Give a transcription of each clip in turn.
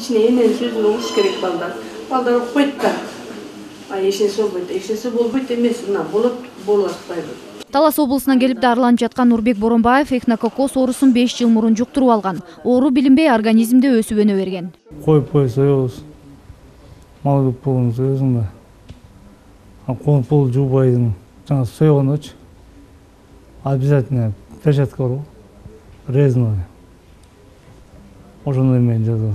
ичине энени сөзүн угуш керек балдар. Балдар укпайт да. Эчинесе болбойт. Эчинесе болбойт эмес, мына болот атпайбы. Талас облусунан келип дарыланып жаткан Нурбек Боронбаев эхинококкоз оорусун 5 жыл мурун жуктуруп алган. Оору билинбей организмде өсүп өнө берген. Коюп соебуз. Мал көп болгон соебуз да. Конуп болуп жуубайдын. Жаңа соегондочу обязательно перчатка бар го. Резной. Ошондой менен жазат.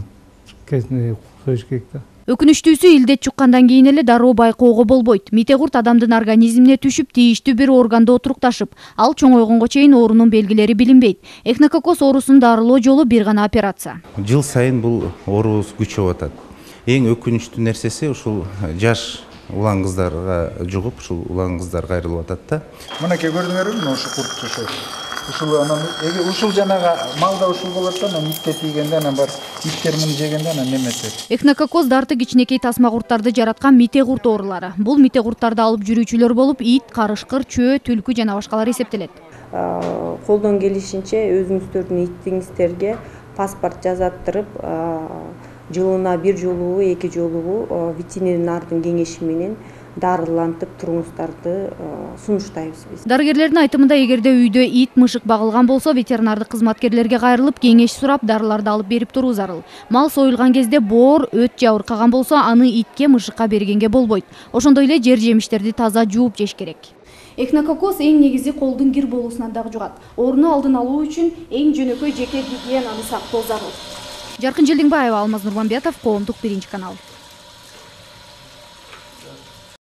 Союш керек да. Өкүнүчтүүсү илдет чуккандан кийин эле дароо байкоого болбойт. Мите курт адамдын организмине түшүп, тийиштүү бир органды отурукташып, ал чоңойгонго чейин оорунун белгилери билинбейт. Эхинококкоз оорусун дарылоо жолу бир гана операция. Жыл сайын бул оорубуз күчөп атат. Эң өкүнүчтүү нерсеси ушул жаш улан кыздарга жугуп, ушул улан кыздар кайрылып атат да. Мынакей көрдүңөрбү, ушул курт ушул анан ушул жанага малда ушул болот да, анан итке тийгенде анан бар иттер муну жегенде анан неметет. Эхинококкоз дарты кичинекей тасма курттарды жараткан мите курт оорулары. Бул мите курттарды алып жүрүүчүлөр болуп, ит, карышкыр, чөө, түлкү жана башкалар эсептелет. Колдон келишинче өзүңүздөрдүн итиңиздерге паспорт жазаттырып, жылына бир жолу, 2 жолу ветеринардын кеңеши менен дарылантып туруңуздарды сунуштайбыз биз. Дарыгерлердин айтымында, эгерде үйдө ит, мышык багылган болсо, ветеринардык кызматкерлерге кайрылып, кеңеш сурап, дарыларды алып берип туруу зарыл. Мал союлган кезде боор, өт же ыркаган болсо, аны итке, мышыкка бергенге болбойт. Ошондой эле жер жемиштерди таза жууп жеш керек. Эхинококкоз эң негизи колдун кир болуусунан дагы жугат. Ооруну алдын алуу үчүн эң жөнөкөй жеке гигиенаны сактоо зарыл. Жаркын Желдиңбаева, Алмаз Нурманбетов, Коомдук 1 канал.